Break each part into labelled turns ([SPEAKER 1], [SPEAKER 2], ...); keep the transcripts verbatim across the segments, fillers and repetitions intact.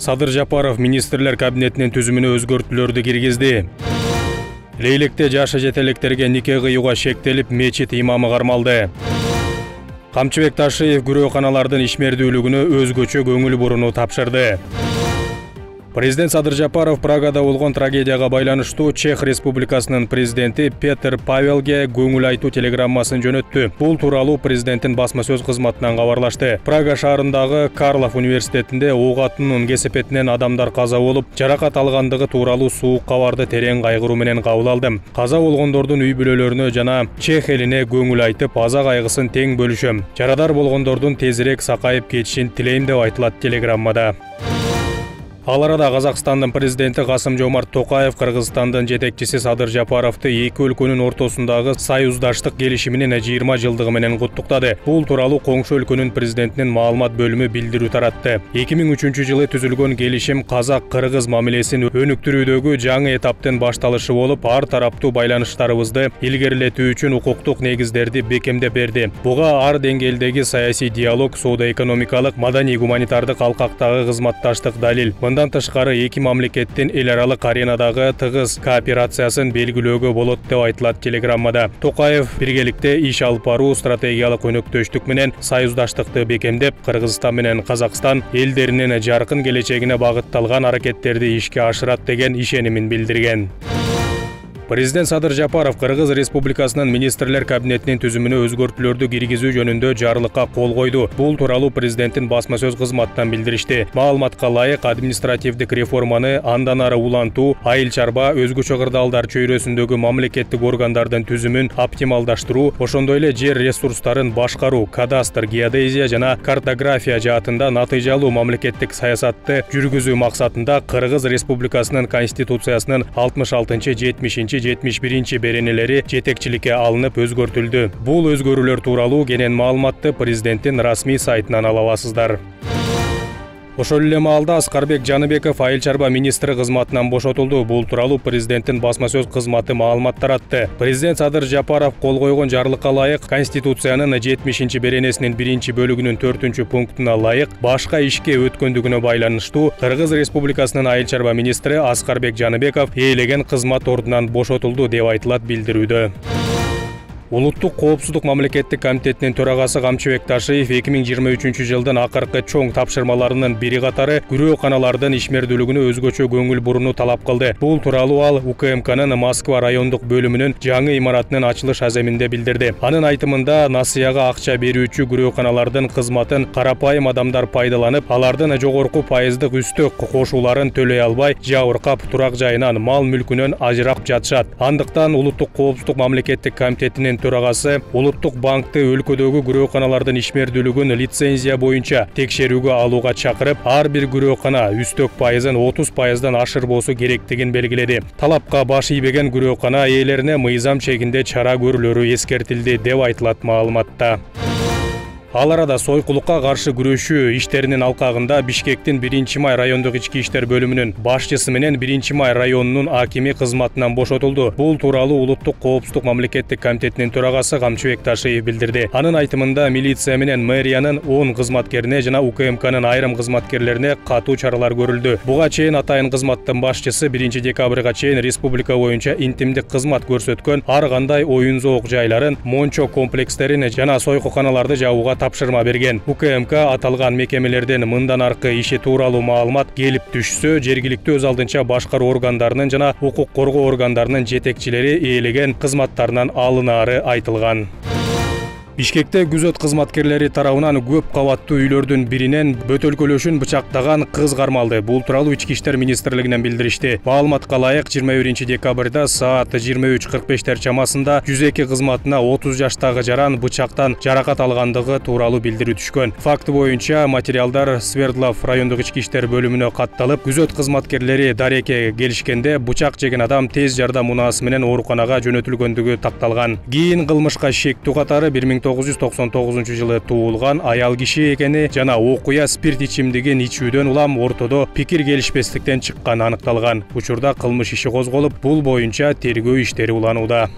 [SPEAKER 1] Садыр Жапаров министрлер кабинетинин түзүмүнө өзгөртүүлөрдү киргизди. Лейлекте жашы жетелектерге нике кыюуга шектелип, мечит имамы кармалды. Камчыбек Ташиев күрөөканалардын ишмердүүлүгүнө өзгөчө көңүл буруну тапшырды. Президент Садыр Жапаров Прагада болгон трагедияга байланыштуу Чех Республикасынын президенти Петр Павелге көңүл айтуу телеграммасын жөнөттү. Бул тууралуу президенттин басма сөз кызматынан кабарлашты. Прага шаарындагы Карлов университетинде ок атуунун кесепетинен адамдар каза болуп, жаракат алгандыгы тууралуу суук кабарды терең кайгыруу менен кабыл алдым. Каза болгондордун үй бүлөлөрүнө жана Чех элине көңүл айтып, аза кайгысын тең бөлүшөм. Жарадар болгондордун тезирээк сакайып кетишин тилейм деп айтылат телеграммада. Ал арада Казакстандын президенти Касым-Жомарт Токаев Кыргызстандын жетекчиси Садыр Жапаровду эки өлкөнүн ортосундагы союздаштык келишиминин жыйырма жылдыгы менен куттуктады. Бул тууралуу коңшу өлкөнүн президентинин маалымат бөлүмү билдирүү таратты. эки миң үчүнчү жылы түзүлгөн келишим казак-кыргыз мамилесин өнүктүрүүдөгү жаңы эtaптын башталышы болуп, ар тараптуу байланыштарыбызды илгерилетүү үчүн укуктук негиздерди бекемдеп берди. Буга ар деңгээлдеги саясий диалог, соода-экономикалык, маданий-гуманитардык алкактагы кызматташтык далил. Мындан тышкары эки мамлекеттин эл аралык аренадагы тыгыз кооперациясын белгилөөгө болот деп айтылат телеграммада. Токаев биргеликте иш алып баруу, стратегиялык өнөктөштүк менен союздаштыкты бекемдеп, Кыргызстан менен Казакстан элдеринин жаркын келечегине багытталган аракеттерди ишке ашырат деген ишенимин билдирген. Президент Садыр Жапаров Кыргыз Республикасынын министрлер кабинетинин түзүмүнө өзгөртүүлөрдү киргизүү жөнүндө жарлыкка кол койду. Бул тууралуу президенттин басма сөз кызматынан билдиришти. Маалыматка ылайык, административдик реформаны андан ары улантуу, айыл чарба, өзгөчө кырдаалдар чөйрөсүндөгү мамлекеттик органдардын түзүмүн оптималдаштыруу, ошондой эле жер ресурстарын башкаруу, кадастр, геодезия жана картография жаатында натыйжалуу мамлекеттик саясатты жүргүзүү максатында Кыргыз Республикасынын Конституциясынын алтымыш алтынчы жетимишинчи жетимиш биринчи беренелери жетекчиликке алынып өзгөртүлдү. Бул өзгөрүүлөр тууралуу кенен маалыматты президенттин расмий сайтынан ала аласыздар. Ошол эле маалда Аскарбек Жаныбеков айыл чарба министри кызматынан бошотулду. Бул тууралуу президенттин басма сөз кызматы маалымат таратты. Президент Садыр Жапаров кол койгон жарлыкка ылайык Конституциянын жетимишинчи беренесинин биринчи бөлүгүнүн төртүнчү пунктуна ылайык башка ишке өткөндүгүнө байланыштуу Кыргыз Республикасынын айыл чарба министри Аскарбек Жаныбеков ээлеген кызмат ордунан бошотулду деп айтылат билдирүүдө. Улуттук коопсуздук мамлекеттик комитетинин төрагасы Камчыбек Ташиев эки миң жыйырма үчүнчү жылдын акыркы чоң тапшырмаларынын бири катары күрөөканалардын ишмердүүлүгүнө өзгөчө көңүл бурууну талап кылды. Бул тууралуу ал УКМКнын Москва райондук бөлүмүнүн жаңы имаратынын ачылыш аземинде билдирди. Анын айтымында, насыяга акча берүүчү күрөөканалардын кызматын карапайым адамдар пайдаланып, алардын жогорку пайыздык үстөк кошууларын төлөй албай, жабыркап турак жайынан, мал мүлкүнөн ажырап жатышат. Андыктан Улуттук коопсуздук мамлекеттик комитетинин төрагасы Улуттук банкты өлкөдөгү күрөөканалардын ишмердүүлүгүн лицензия боюнча текшерүүгө алууга чакырып, ар бир күрөөкана үстөк пайызын отуз пайыздан ашырбоосу керектигин белгиледи. Талапка баш ийбеген күрөөкана ээлерине мыйзам чегинде чара көрүлөрү эскертилди деп айтылат маалыматта. Ал арада сойкулукка каршы күрөшүү иштеринин алкагында Бишкектин биринчи май райондук ички иштер бөлүмүнүн башчысы менен биринчи май районунун акими кызматынан бошотулду. Бул тууралуу Улуттук коопсуздук мамлекеттик комитетинин төрагасы Камчыбек Ташиев билдирди. Анын айтымында, милиция менен мэриянын он кызматкерине жана УКМКнын айрым кызматкерлерине катуу чаралар көрүлдү. Буга чейин атайын кызматтын башчысы биринчи декабрга чейин республика боюнча интимдик кызмат көрсөткөн ар кандай оюн зоок жайларын, мончо комплекстерин жана сойкуканаларды жабууга тапшырма берген. УКМК аталган мекемелерден мындан аркы иши тууралуу маалымат келип түшсө, жергиликтүү өз алдынча башкаруу органдарынын жана укук коргоо органдарынын жетекчилери ээлеген кызматтарынан алынаары айтылган. Бишкекте күзөт кызматкерлери тарабынан көп кабаттуу үйлөрдүн биринен бөтөлкөлөшүн бычактаган кыз кармалды. Бул тууралуу Ички иштер министрлигинен билдиришти. Маалыматка ылайык, жыйырма биринчи декабрда саат жыйырма үч кырк бештер чамасында жүз эки кызматына отуз жаштагы жаран бычактан жаракат алгандыгы тууралуу билдирүү түшкөн. Факт боюнча материалдар Свердлов райондук ички иштер бөлүмүнө катталып, күзөт кызматкерлери дарекке келишкенде бычак жеген адам тез жардам унаасы менен ооруканага жөнөтүлгөндүгү такталган. Кийин кылмышка шектүү катары бир миң тогуз жүз токсон тогузунчу жылы туулган аял киши экени жана окуя спирт ичимдигин ичүүдөн улам ортодо пикир келишпестиктен чыкканы аныкталган. Учурда кылмыш иши козголуп, бул боюнча тергөө иштери уланууда.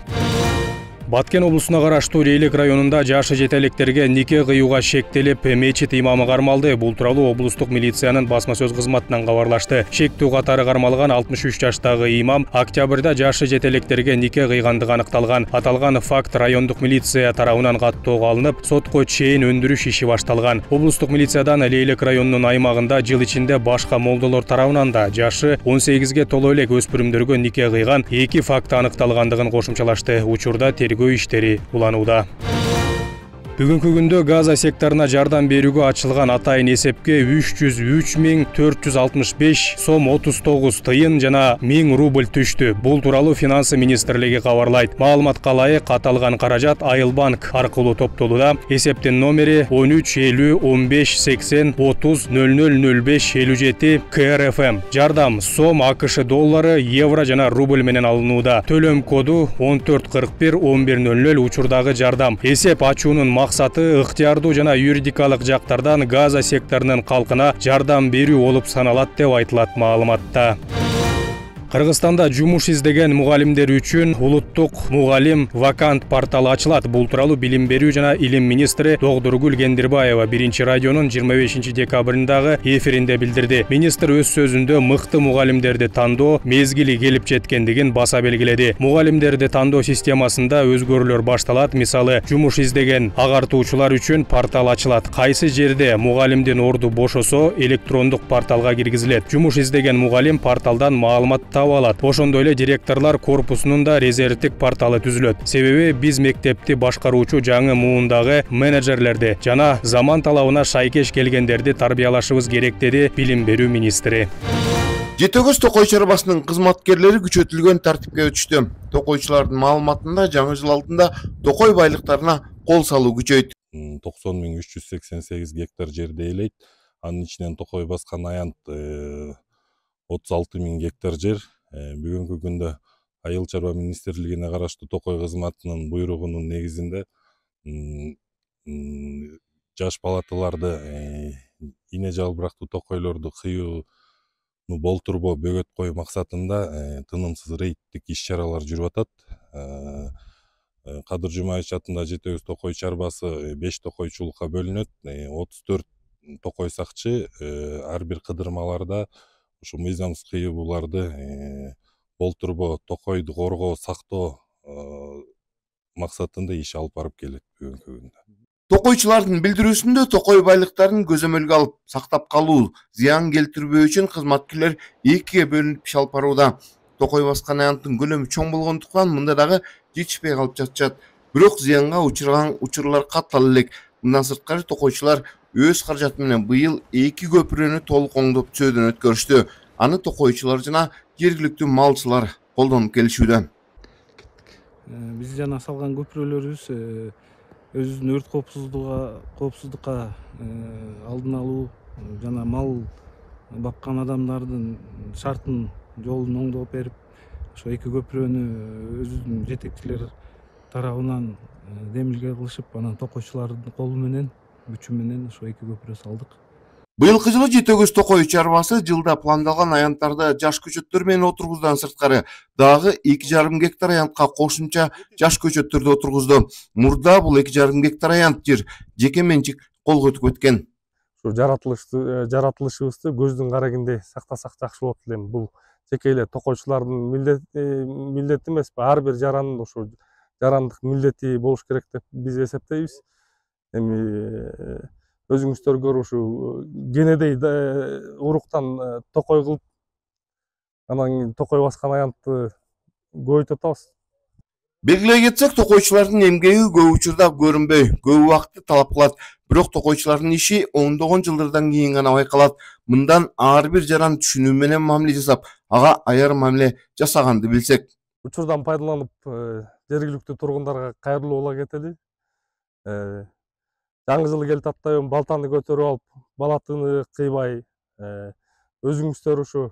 [SPEAKER 1] Баткен облусуна караштуу Рейлик районунда жашы жете электерге нике кыюуга шектелип, мечит имамы кармалды. Бул тууралуу облустук милициянын басма сөз кызматынан кабарлашты. Шектүү катары кармалган алтымыш үч жаштагы имам октябрда жашы жете электерге нике кыйгандыгы аныкталган. Аталган факт райондук милиция тарабынан каттоого алынып, сотко чейин өндүрүш иши башталган. Облустук милициядан Рейлик районунун аймагында жыл ичинде башка молдолор тарабынан да жашы он сегизге толо элек өспүрүмдөргө нике кыйган эки факты аныкталгандыгын кошумчалашты. Учурда тергөө иштери уланууда. Бүгүнкү күндө Газа секторуна жардам берүүгө ачылган атайын эсепке үч жүз үч миң төрт жүз алтымыш беш сом отуз тогуз тыйын жана миң рубль түштү. Бул тууралуу Финансы министрлиги кабарлайт. Маалыматка ылайык аталган каражат Айылбанк аркылуу топтолууда. Эсептин номери он үч элүү он беш сексен отуз нөл нөл нөл беш элүү жети К Р Ф М. Жардам сом АКШ доллары, евро жана рубль менен алынууда. Төлөм коду он төрт кырк бир он бир нөл нөл. Учурдагы жардам эсеп ачуунун максаты ыктыярдуу жана юридикалык жактардан Газа секторунун калкына жардам берүү болуп саналат деп айтылат маалыматта. Кыргызстанда жумуш издеген мугалимдер үчүн улуттук мугалим вакант порталы ачылат. Бул тууралуу билим берүү жана илим министри Догдургүл Кендирбаева биринчи радионун жыйырма бешинчи декабрындагы эфиринде билдирди. Министр өз сөзүндө мыкты мугалимдерди тандоо мезгили келип жеткендигин баса белгиледи. Мугалимдерди тандоо системасында өзгөрүүлөр башталат. Мисалы, жумуш издеген агартуучулар үчүн портал ачылат. Кайсы жерде мугалимдин орду бошосо, электрондук порталга киргизилет. Жумуш издеген мугалим порталдан маалымат алат. Ошондой эле директорлор корпусунун да резервдик порталы түзүлөт. Себеби биз мектепти башкаруучу жаңы муундагы менеджерлерди жана заман талабына шайкеш келгендерди тарбиялашыбыз керек, деди билим берүү министри.
[SPEAKER 2] Жети өгүз Токой чарбасынын кызматкерлери күчөтүлгөн тартипке өтүштү. Токойчулардын маалыматында жаңы жыл алдында Токой байлыктарына кол салуу күчөйт.
[SPEAKER 3] токсон миң үч жүз сексен сегиз гектар жерди ээлейт. Анын ичинен Токой баскан аянт отуз алты миң гектар жер. Бүгүнкү күндө Айыл чарба министрлигине караштуу Токой кызматынын буйругунун негизинде жаш палаталарды ине жалбырактуу токойлорду кыюуну болтурбоо, бөгөт коюу максатында тынымсыз рейдтик иш-чаралар жүрүп атат. Кадыр Жумаевич атында жети өгүз Токой чарбасы беш токойчулукка бөлүнөт. отуз төрт токой сакчы ар бир кыдырмаларда ушу мыйзамсыз кыюуларды болтурбоо, токойду коргоо, сактоо максатында иш алып барып келет бүгүнкү күндө.
[SPEAKER 2] Токойчулардын билдирүүсүндө Токой байлыктарын көзөмөлгө алып сактап калуу, зыян келтирбөө үчүн кызматкерлер экиге бөлүнүп иш алып барууда. Токой баскан аянттын көлөмү чоң болгондуктан мында дагы жетишпей калып жатышат. Бирок зыянга учурган учурлар каттал элек. Мындан сырткары токойчулар өз каражаты менен быйыл эки көпүрөнү толук оңдоп түзөөдөн өткөрүштү. Аны токойчулар жана жергиликтүү малчылар колдонуп келишүүдө.
[SPEAKER 4] Биз жана салган көпүрөлөрүбүз өзүнүн өрт коопсуздугуга коопсуздукка алдын алуу жана мал баккан адамдардын шартын жолун оңдоп берип, ошо эки көпүрөнү өзүнүн жетекчилер тарабынан демилге кылышып, анан токойчулардын колу менен, күчү менен ошо эки көпүрө салдык.
[SPEAKER 2] Быйылкы жылы жети өгүз Токой чарбасы жылда пландалган аянттарды жаш көчөттөр менен отургузуудан сырткары дагы эки жарым гектар аянтка кошумча жаш көчөттөрдү отургузду. Мурда бул эки жарым гектар аянт жер жеке менчик колго өтүп кеткен.
[SPEAKER 5] Ушу жаратылышты жаратылышыбызды көздүн карагинде сактасак жакшы болот элем. Бул жеке эле токойчулардын милдети эмес, ар бир жарандын ушу жарандык милдети болуш керек деп биз эсептейбиз. Эми өзүңүздөр көрүп ушу кенедей уруктан токой кылып, анан токой баскан аянтты көбөйтүп атабыз.
[SPEAKER 2] Белгилей кетсек, токойчулардын эмгеги көп учурда көрүнбөй, көп убакытты талап кылат. Бирок токойчулардын иши ондогон жылдардан кийин гана байкалат. Мындан ар бир жаран түшүнүү менен мамиле жасап, ага аяр мамиле жасаганды билсек.
[SPEAKER 5] Учурдан пайдаланып, жергиликтүү тургундарга кайрылуу бола кетели. Жаңы жылы келип атпайбы, балтаны көтөрүп алып, балатыны кыйбай, өзүңүздөр ушу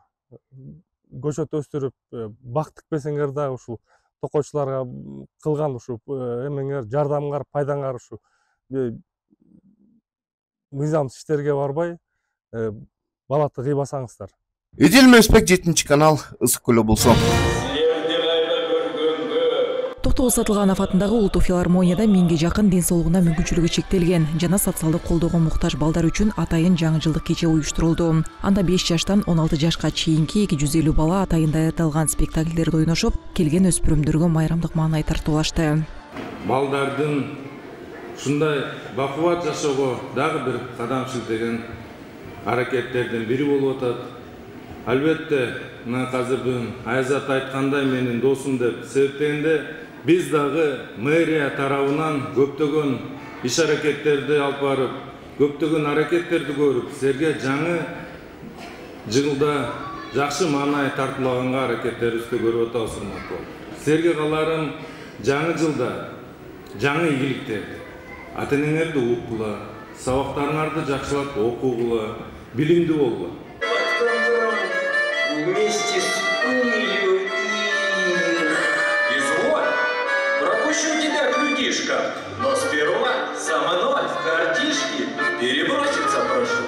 [SPEAKER 5] көчөт өстүрүп, бак тикпесеңер да ушу токойчуларга кылган ушу эмеңер, жардамыңар, пайдаңар ушу мыйзамсыз иштерге барбай, балаты кыйбасаңыздар.
[SPEAKER 2] Эдил Меспек, жетинчи канал, Ысык Көл облусу.
[SPEAKER 6] Тоос Атылганов атындагы улуттук филармонияда миңге жакын ден соолугуна мүмкүнчүлүгү чектелген жана социалдык колдоого муктаж балдар үчүн атайын жаңы жылдык кече уюштурулду. Анда беш жаштан он алты жашка чейинки эки жүз элүү бала атайын даярдалган спектакльдерди ойношуп, келген өспүрүмдөргө майрамдык маанай тартуулашты.
[SPEAKER 7] Балдардын ушундай бакубат жашоого дагы бир кадам шилтеген аракеттердин бири болуп атат. Албетте, мына азырдын Айзат айткандай менин досум деп себептегенде биз дагы мэрия тарабынан көптөгөн иш аракеттерди алып барып, көптөгөн аракеттерди көрүп, силерге жаңы жылда жакшы маанай тартуулаганга аракеттерибизди көрүп атабыз, урматтуу. Силерге кааларым жаңы жылда жаңы ийгиликтерди, ата-энеңерди уккула, сабактарыңарды жакшылап окугула, билимдүү болгула.
[SPEAKER 8] Вместе с пылью и... Изволь, пропущу тебя к людишкам, но сперва сама ноль в картишки переброситься прошу.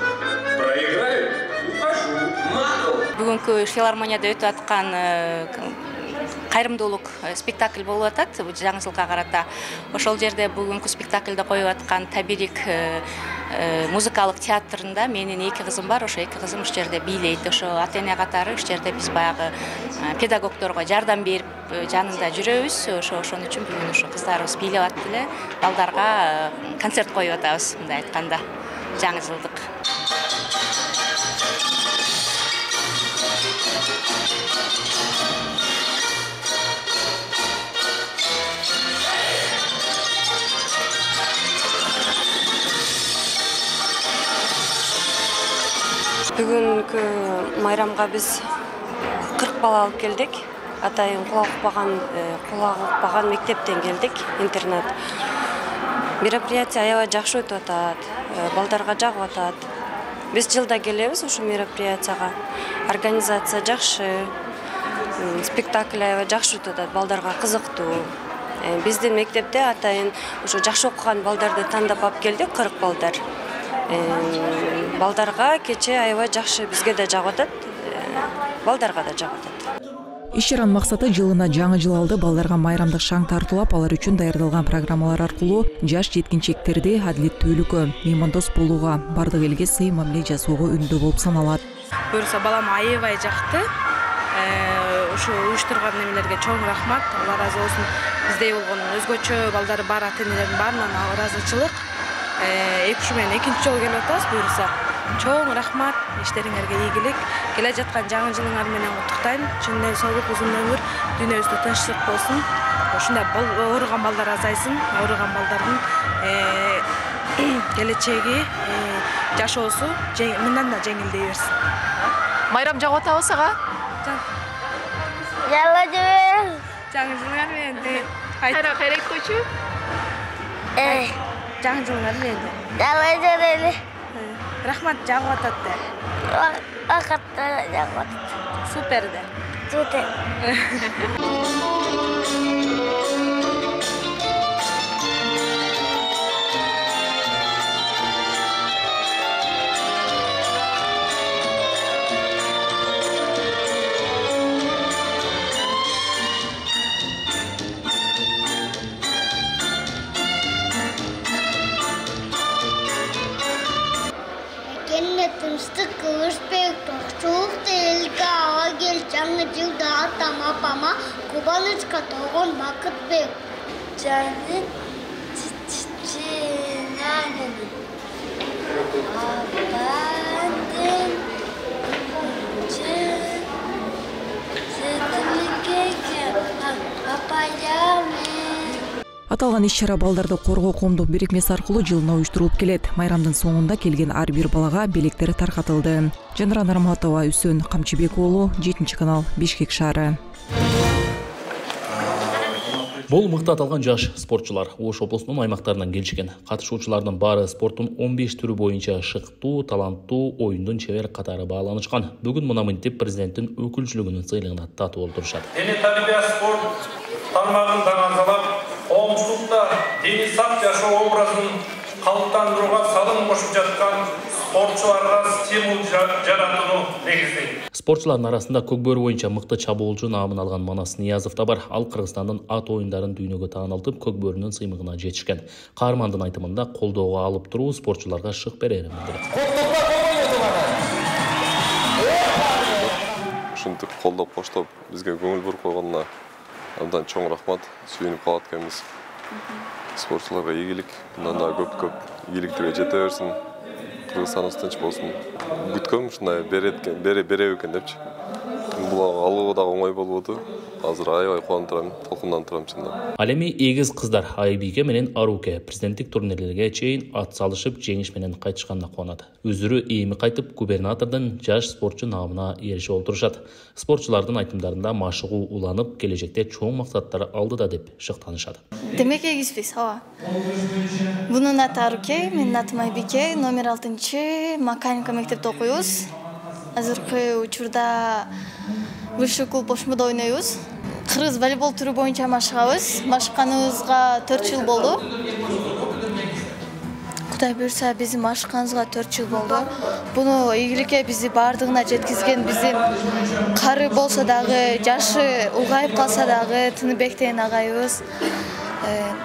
[SPEAKER 8] Проиграю, ухожу. Магл.
[SPEAKER 9] Бүгүнкү филармонияда өтүп аткан кайрымдуулук спектакль болуп атат жаңы жылга карата. Ошол жерде бүгүнкү спектакльде коюп аткан Табирик музыкалык театрында менин эки кызым бар. Ошо эки кызым ушул жерде бийлейт. Ошо ата-эне катары ушул жерде биз баягы педагогдорго жардам берип жанында жүрөбүз. Ошо ошон үчүн бүгүн ушу кыздарыбыз бийлеп атты эле. Балдарга концерт коюп атабыз, мындай айтканда, жаңы жылдык.
[SPEAKER 10] Бүгүнкү майрамга биз кырк бала алып келдик. Атайын кулак укпаган, кулак укпаган мектептен келдик, интернат. Мероприятие аябай жакшы өтүп атат, балдарга жагып атат. Биз жылда келебиз ушул мероприятияга. Организация жакшы, спектакль аябай жакшы өтүп атат, балдарга кызыктуу. Биздин мектепте атайын ушу жакшы окуган балдарды тандап алып келдик, кырк балдар. Балдарга кече аябай жакшы, бизге да жагып атат, балдарга да жагып атат.
[SPEAKER 6] Иш чаранын максаты жылына жаңы жыл алды балдарга майрамдык шаң тартуулап, алар үчүн даярдалган программалар аркылуу жаш жеткинчектерди адилеттүүлүккө, меймандос болууга, бардык элге сый мамиле жасоого үндөө болуп саналат.
[SPEAKER 11] Буюрса балам аябай жакты. Ушу уюштурган немелерге чоң рахмат. Алла разы болсун. Биздей болгон өзгөчө балдары бар ата-энелердин баарынан ыраазычылык. Эки ушу менен экинчи жолу келип атабыз. Буюрса чоң рахмат, иштериңерге ийгилик. Келе жаткан жаңы жылыңар менен куттуктайм. Чын эле соолук, узун өмүр, дүйнөбүздө тынчтык болсун. Ушундай ооруган балдар азайсын, ооруган балдардын келечеги, жашоосу мындан да жеңилдей берсин.
[SPEAKER 12] Майрам жагып атабы сага?
[SPEAKER 13] Жала жебе.
[SPEAKER 11] Жаңы жылыңар менен
[SPEAKER 12] кайра кайра айтып койчу.
[SPEAKER 13] Э,
[SPEAKER 11] жаңы жылыңар менен.
[SPEAKER 13] Жала жебе.
[SPEAKER 11] Рахмат, жагып атат да.
[SPEAKER 13] Акатта жагып атат.
[SPEAKER 11] Супер да.
[SPEAKER 13] Супер. Тынчтык кылышпек токчулукта элге ага кел жаңы жылда атам апама кубанычка толгон бакыт бек. Жаны чичинагын апандын
[SPEAKER 6] Аталган иш-чара балдарды коргоо коомдук бирикмеси аркылуу жылына уюштурулуп келет. Майрамдын соңунда келген ар бир балага белектер таркатылды. Жанара Нарматова, Үсөн Камчыбек уулу, жетинчи канал, Бишкек шаары.
[SPEAKER 14] Бул мыкты аталган жаш спортчулар Ош облусунун аймактарынан келишкен. Катышуучулардын баары спорттун он беш түрү боюнча шыктуу, таланттуу, оюндун чебер катары бааланышкан. Бүгүн мына мынтип президенттин өкүлчүлүгүнүн сыйлыгына татуу болтурушат.
[SPEAKER 15] Дене тарбия спорт тармагын даңазалап, коомчулукта дени сак жашоо образын калыптандырууга салым кошуп жаткан спортчуларга стимул жаратууну негиздейт.
[SPEAKER 14] Спортчулардын арасында көкбөрү боюнча мыкты чабуулчу наамын алган Манас Ниязов да бар. Ал Кыргызстандын ат оюндарын дүйнөгө таанылтып, көкбөрүнүн сыймыгына жетишкен. Каармандын айтымында колдоого алып туруу спортчуларга шык берерин билдирет.
[SPEAKER 16] Ушинтип колдоп коштоп бизге көңүл буруп койгонуна абдан чоң рахмат. Сүйүнүп калат экенбиз. Спортчуларга ийгилик, мындан да көп-көп ийгиликтерге жете берсин. Кыргызстаныбыз тынч болсун. Күткөм ушундай берет бере бере экен депчи. Бул алуу да оңой болбоду. Азыр аябай кубанып турам, толкунданып турам чындап.
[SPEAKER 14] Ал эми эгиз кыздар Айбике менен Аруке президенттик турнирлерге чейин ат салышып, жеңиш менен кайтышканына кубанат. Өзүрү эми кайтып губернатордун жаш спортчу наамына эришип олтурушат. Спортчулардын айтымдарында машыгуу уланып, келечекте чоң максаттар алдыда деп шыктанышат.
[SPEAKER 17] Демек эгизбиз, ооба. Бунун аты Аруке, менин атым Айбике, номер алтынчы механика мектепте окуйбуз. Азыркы учурда высший клуб Ошмодо ойнойбуз. Кыргыз волейбол түрү боюнча машыгабыз. Машыкканыбызга төрт жыл болду. Кудай буйрса, биздин машыкканыбызга төрт жыл болду. Буну ийгиликке бизди бардыгына жеткизген биздин кары болсо дагы, жашы улгайып калса дагы Тыныбек деген агайыбыз.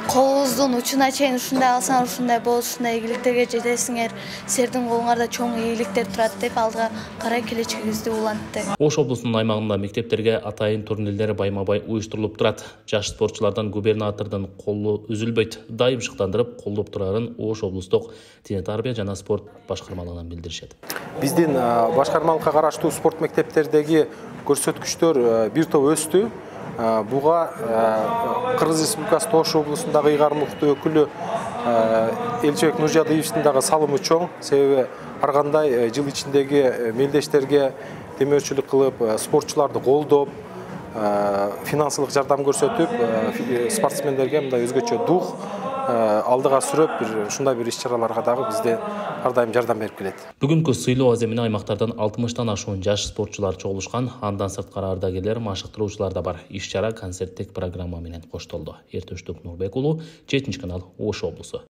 [SPEAKER 17] Колуңуздун учуна чейин ушундай алсаң, ушундай болот, ушундай ийгиликтерге жетесиңер, силердин колуңарда чоң ийгиликтер турат деп алга карай келечегибизди улантты.
[SPEAKER 14] Ош облусунун аймагында мектептерге атайын турнирлер байма-бай уюштурулуп турат. Жаш спортчулардан губернатордун колу үзүлбөйт, дайым шыктандырып колдоп турарын Ош облустук дене тарбия жана спорт башкармалыгынан билдиришет.
[SPEAKER 18] Биздин башкармалыкка караштуу спорт мектептердеги көрсөткүчтөр бир топ өстү. Буга Кыргыз Республикасы Ош облусундагы ыйгарымдуу өкүлү Элчебек Нуржадыевичтин дагы салымы чоң. Себеби ар кандай жыл ичиндеги мелдештерге демөөрчүлүк кылып, спортчуларды колдоп, финансылык жардам көрсөтүп, спортсмендерге мындай өзгөчө дух алдыга сүрөп, бир ушундай бир иш-чараларга дагы бизде ар дайым жардам берип келет.
[SPEAKER 14] Бүгүнкү сыйлоо аземине аймактардан алтымыштан ашуун жаш спортчулар чогулушкан. Андан сырткары ардагерлер, машыктыруучулар да бар. Иш-чара концерттик программа менен коштолду. Эртөштүк Нурбек уулу, жетинчи канал, Ош облусу.